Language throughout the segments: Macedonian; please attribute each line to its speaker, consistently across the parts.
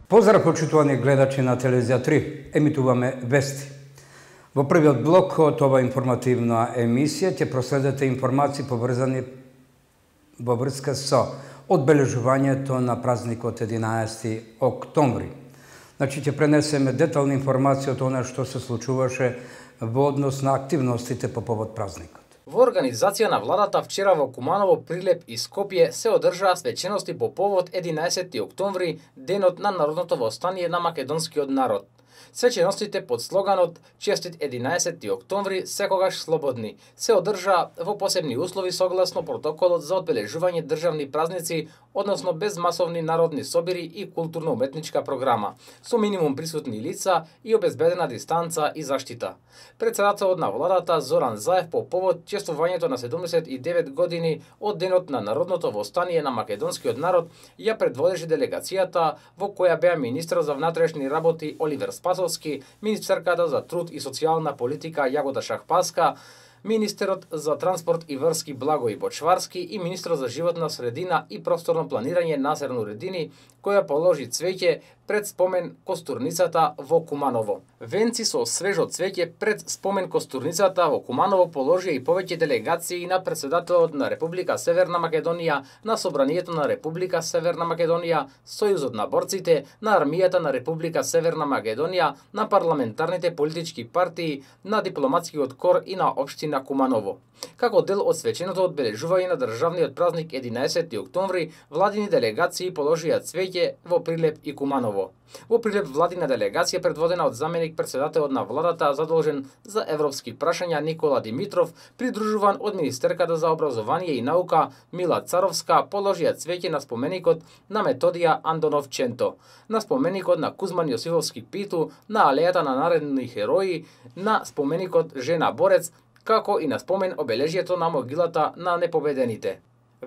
Speaker 1: Поздрав, почитувани гледачи на Телевизија 3. Емитуваме вести. Во првиот блок од ова информативна емисија ќе проследете информации поврзани во врска со одбележувањето на празникот 11 октомври. Значи ќе пренесеме детална информација од она што се случуваше во однос на активностите по повод празникот.
Speaker 2: Во организација на владата вчера во Куманово, Прилеп и Скопје се одржаа свечености по повод 11 октомври, денот на народното востание на македонскиот народ. Свеченостите под слоганот "Честит 11 октомври, секогаш слободни" се одржаа во посебни услови согласно протоколот за одбележување државни празници, односно без масовни народни собири и културно-уметничка програма, со минимум присутни лица и обезбедена дистанца и заштита. Председателот на владата Зоран Заев по повод чествувањето на 79 години од денот на народното востание на македонскиот народ ја предводеше делегацијата, во која беа министрот за внатрешни работи Оливер Спасовски, министерката за труд и социјална политика Јагода Шахпаска, министерот за транспорт и врски Благој Бочварски и министрот за животна средина и просторно планирање Насер Нуредини, која положи цвеќе пред спомен костурницата во Куманово. Венци со свежо цвеќе пред спомен костурницата во Куманово положија и повеќе делегации на председателот на Република Северна Македонија, на Собранието на Република Северна Македонија, Сојузот на борците, на Армијата на Република Северна Македонија, на парламентарните политички партии, на дипломатскиот кор и на општина Куманово. Како дел од свеченото одбележување на државниот празник 11 октомври, владини делегации положија цвеќе во Прилеп и Куманово. Во Прилеп владина делегација предводена од заменик председателот на владата задолжен за европски прашања Никола Димитров, придружуван од министерката за образование и наука Мила Царовска, положија цвеќе на споменикот на Методија Андонов Ченто, на споменикот на Кузман Јосифовски Питу, на алејата на наредни херои, на споменикот Жена Борец, како и на спомен обележјето на могилата на непобедените.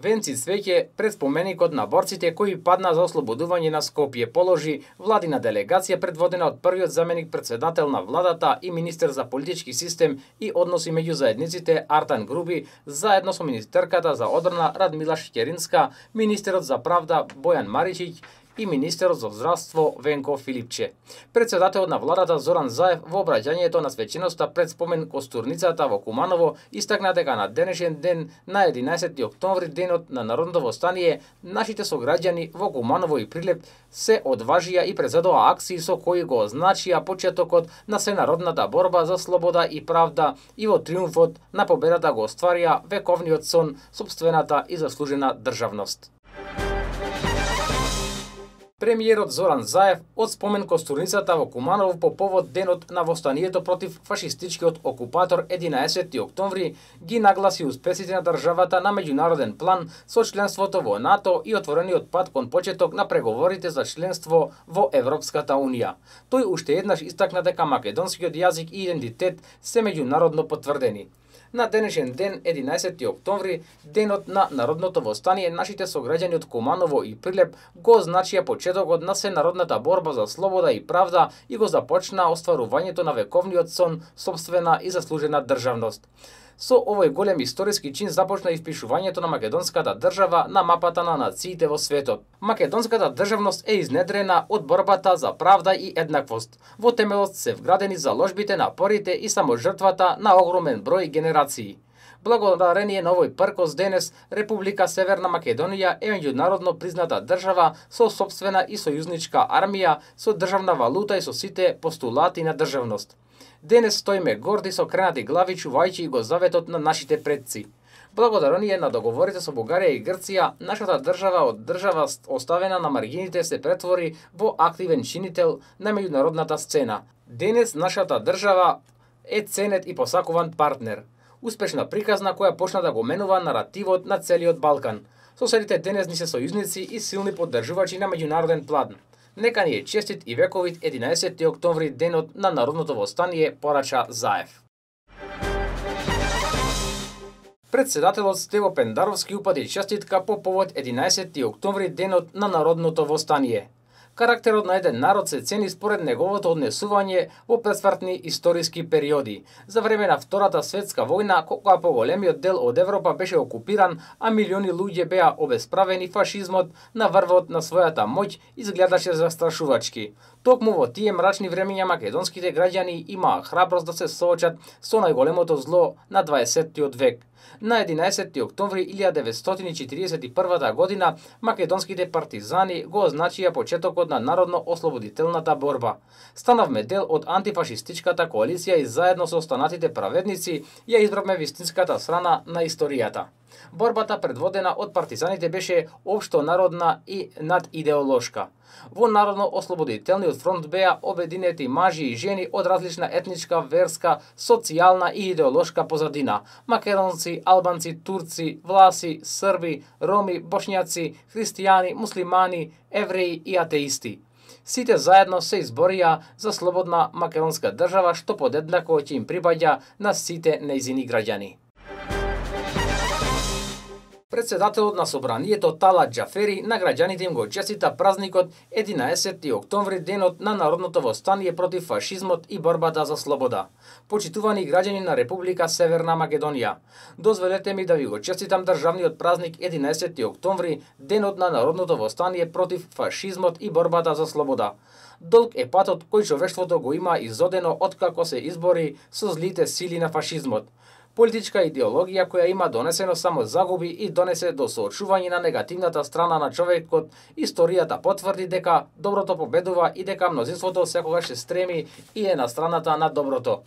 Speaker 2: Венци цвеќе пред споменикот на борците кои падна за ослободување на Скопје положи владина делегација предводена од првиот заменик председател на владата и министер за политички систем и односи меѓу заедниците Артан Груби, заедно со министерката за одбрана Радмила Шќеринска, министерот за правда Бојан Маричиќ и министерот за здравство Венко Филипче. Председателот на владата Зоран Заев во обраќањето на свеченоста пред спомен костурницата во Куманово истакна дека на денешен ден на 11 октомври, денот на народното востание, нашите сограѓани во Куманово и Прилеп се одважија и презедоа акции со кои го означија почетокот на сенародната борба за слобода и правда и во триумфот на победата го остварија вековниот сон, сопствената и заслужена државност. Премиерот Зоран Заев од спомен костурницата во Куманово по повод денот на востанието против фашистичкиот окупатор 11 октомври ги нагласи успесите на државата на меѓународен план со членството во НАТО и отворениот пат кон почеток на преговорите за членство во Европската Унија. Тој уште еднаш истакна дека македонскиот јазик и идентитет се меѓународно потврдени. На денешен ден, 11 октомври, денот на народното востание, нашите сограѓани од Куманово и Прилеп го означија почетокот на сенародната борба за слобода и правда и го започна остварувањето на вековниот сон, сопствена и заслужена државност. Со овој голем историски чин започна испишувањето на македонската држава на мапата на нациите во светот. Македонската државност е изнедрена од борбата за правда и еднаквост. Во темелот се вградени заложбите, напорите и саможртвата на огромен број генерации. Благодарение на овој пркос денес, Република Северна Македонија е меѓународно призната држава со сопствена и сојузничка армија, со државна валута и со сите постулати на државност. Денес стоиме горди со кренати глави, чувајќи го заветот на нашите предци. Благодарение на договорите со Бугарија и Грција, нашата држава од држава оставена на маргините се претвори во активен чинител на меѓународната сцена. Денес нашата држава е ценет и посакуван партнер. Успешна приказна која почна да го менува наративот на целиот Балкан. Соседите денес ни се сојузници и силни поддржувачи на меѓународен план. Нека ни е честит и вековит 11 октомври, денот на народното востание, порача Заев. Председателот Стево Пендаровски упати честитка по повод 11 октомври, денот на народното востание. Карактерот на еден народ се цени според неговото однесување во пресвртни историски периоди. За време на Втората светска војна, кога поголемиот дел од Европа беше окупиран, а милиони луѓе беа обесправени, фашизмот на врвот на својата моќ изгледаше застрашувачки. Токму во тие мрачни времења македонските граѓани имаа храброст да се соочат со најголемото зло на 20-тиот век. На 11 октомври 1941 година македонските партизани го означија почетокот на народно-ослободителната борба. Станавме дел од антифашистичката коалиција и заедно со останатите праведници ја избравме вистинската страна на историјата. Борбата предводена од партизаните беше општо народна и надидеолошка. Во Народно-ослободителниот фронт беа обединети мажи и жени од различна етничка, верска, социјална и идеолошка позадина. Македонци, албанци, турци, власи, срби, роми, бошњаци, христијани, муслимани, евреи и атеисти. Сите заедно се изборија за слободна македонска држава што подеднако ќе им припаѓа на сите нејзини граѓани. Председателот на собранието Талат Џафери на граѓаните им го честита празникот 11 октомври, денот на народното востание против фашизмот и борбата за слобода. Почитувани граѓани на Република Северна Македонија, дозволете ми да ви го честитам државниот празник 11 октомври, денот на народното востание против фашизмот и борбата за слобода. Долг е патот кој човештвото го има изодено откако се избори со злите сили на фашизмот. Политичка идеологија која има донесено само загуби и донесе до соочување на негативната страна на човекот, историјата потврди дека доброто победува и дека мнозинството секогаш се стреми и е на страната на доброто.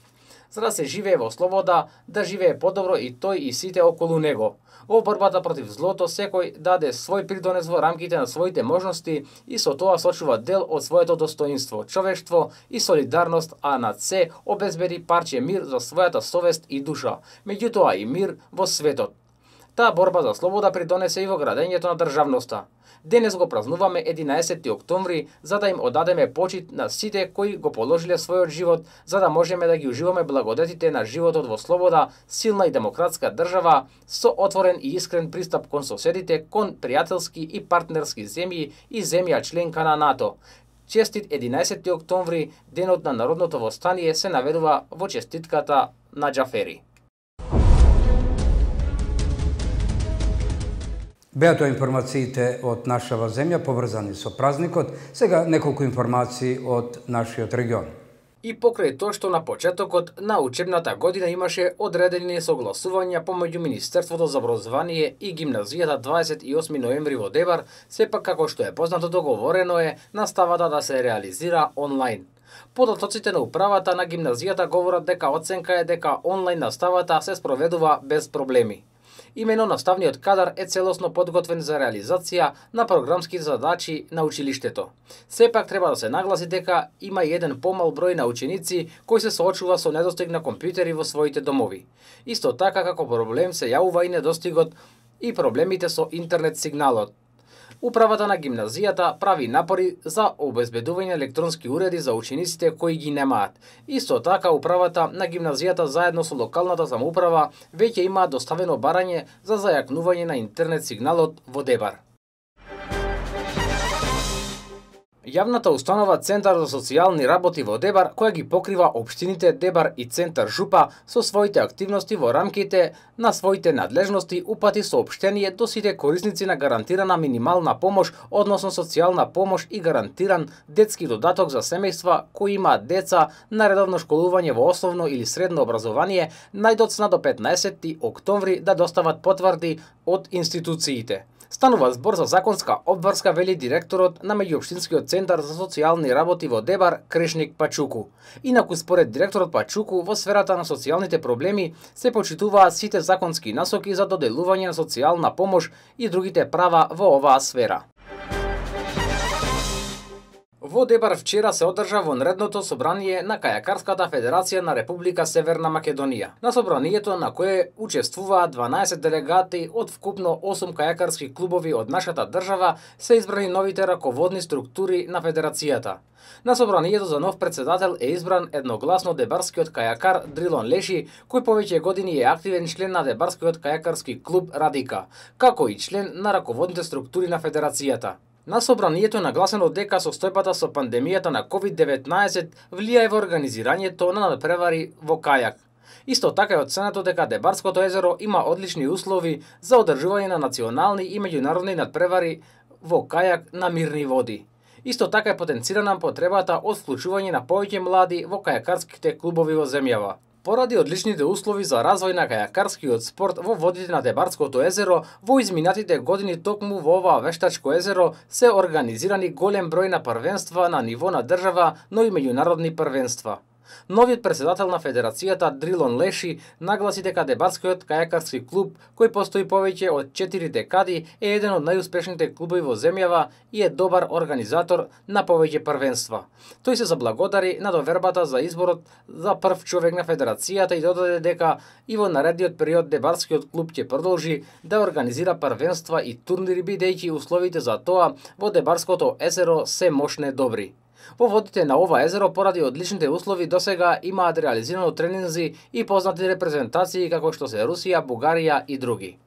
Speaker 2: За да се живее во слобода, да живее подобро и тој и сите околу него. Во борбата против злото секој даде свој придонес во рамките на своите можности и со тоа сочува дел од своето достоинство, човештво и солидарност, а над се обезбеди парче мир за својата совест и душа, меѓутоа и мир во светот. Таа борба за слобода придонесе и во градењето на државноста. Денес го празнуваме 11 октомври за да им одадеме почит на сите кои го положиле својот живот за да можеме да ги уживаме благодетите на животот во слобода, силна и демократска држава со отворен и искрен пристап кон соседите, кон пријателски и партнерски земји и земја членка на НАТО. Честит 11 октомври, денот на народното востание, се наведува во честитката на Џафери.
Speaker 1: Беа тоа информациите од нашава земја поврзани со празникот. Сега неколку информации од нашиот регион.
Speaker 2: И покрај тоа што на почетокот на учебната година имаше одредени согласувања помеѓу Министерството за образование и гимназијата 28 ноември во Дебар, сепак како што е познато договорено е наставата да се реализира онлайн. Податоците на управата на гимназијата говорат дека оценка е дека онлайн наставата се спроведува без проблеми. Имено наставниот кадар е целосно подготвен за реализација на програмските задачи на училиштето. Сепак треба да се нагласи дека има и еден помал број на ученици кои се соочува со недостиг на компјутери во своите домови. Исто така како проблем се јавува и недостигот и проблемите со интернет сигналот. Управата на гимназијата прави напори за обезбедување електронски уреди за учениците кои ги немаат. Исто така, управата на гимназијата заедно со локалната самоуправа веќе имаат доставено барање за зајакнување на интернет сигналот во Дебар. Јавната установа Центар за социјални работи во Дебар, која ги покрива општините Дебар и Центар Жупа со своите активности во рамките на своите надлежности, упати соопштение до сите корисници на гарантирана минимална помош, односно социјална помош и гарантиран детски додаток за семејства кои имаат деца на редовно школување во основно или средно образование, најдоцна до 15 октомври да достават потврди од институциите. Станува збор за законска обврска, вели директорот на Меѓуопштинскиот центар за социјални работи во Дебар, Крешник Пачуку. Инаку според директорот Пачуку, во сферата на социјалните проблеми се почитуваат сите законски насоки за доделување на социјална помош и другите права во оваа сфера. Во Дебар вчера се одржа вонредното собрание на Кајакарската федерација на Република Северна Македонија. На собранието на кое учествуваат 12 делегати од вкупно 8 кајакарски клубови од нашата држава, се избрани новите раководни структури на федерацијата. На собранието за нов председател е избран едногласно дебарскиот кајакар Дрилон Леши, кој повеќе години е активен член на дебарскиот кајакарски клуб Радика, како и член на раководните структури на федерацијата. На собранието е нагласено дека состојбата со пандемијата на COVID-19 влијае во организирањето на надпревари во кајак. Исто така е оценето дека Дебарското езеро има одлични услови за одржување на национални и меѓународни надпревари во кајак на мирни води. Исто така е потенцирана потребата од вклучување на повеќе млади во кајакарските клубови во земјава. Поради одличните услови за развој на кајакарскиот спорт во водите на Дебарското езеро, во изминатите години токму во ова вештачко езеро се организирани голем број на првенства на ниво на држава, но и меѓународни првенства. Новиот председател на Федерацијата Дрилон Леши нагласи дека Дебарскиот кајакарски клуб, кој постои повеќе од 4 декади, е еден од најуспешните клубови во земјава и е добар организатор на повеќе првенства. Тој се заблагодари на довербата за изборот за прв човек на Федерацијата и додаде дека и во наредниот период Дебарскиот клуб ќе продолжи да организира првенства и турнири, бидејќи условите за тоа во Дебарското езеро се мошне добри. Во водите на ова езеро, поради одличните услови, досега имаат реализирано тренинзи и познати репрезентации како што се Русија, Бугарија и други.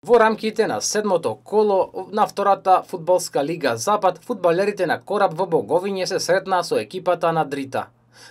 Speaker 2: Во рамките на 7-то коло на втората фудбалска лига Запад, фудбалерите на Кораб во Боговиње се сретнаа со екипата на Дрита.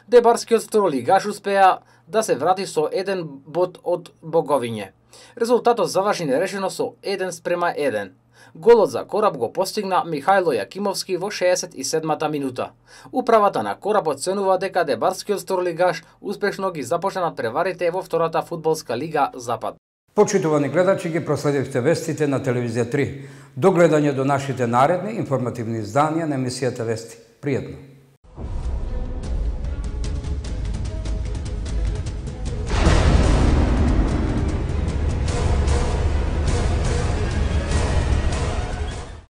Speaker 2: Дебарскиот второлигаш успеа да се врати со 1 бод од Боговиње. Резултатот заврши нерешено со 1:1. Голот за Кораб го постигна Михајло Јакимовски во 67-та минута. Управата на Кораб оценува дека Дебарскиот второлигаш успешно ги започна надпреварите во втората фудбалска лига Запад.
Speaker 1: Почитувани гледачи, ги проследивте вестите на Телевизија 3. До гледање до нашите наредни информативни изданија на емисијата Вести. Пријатно!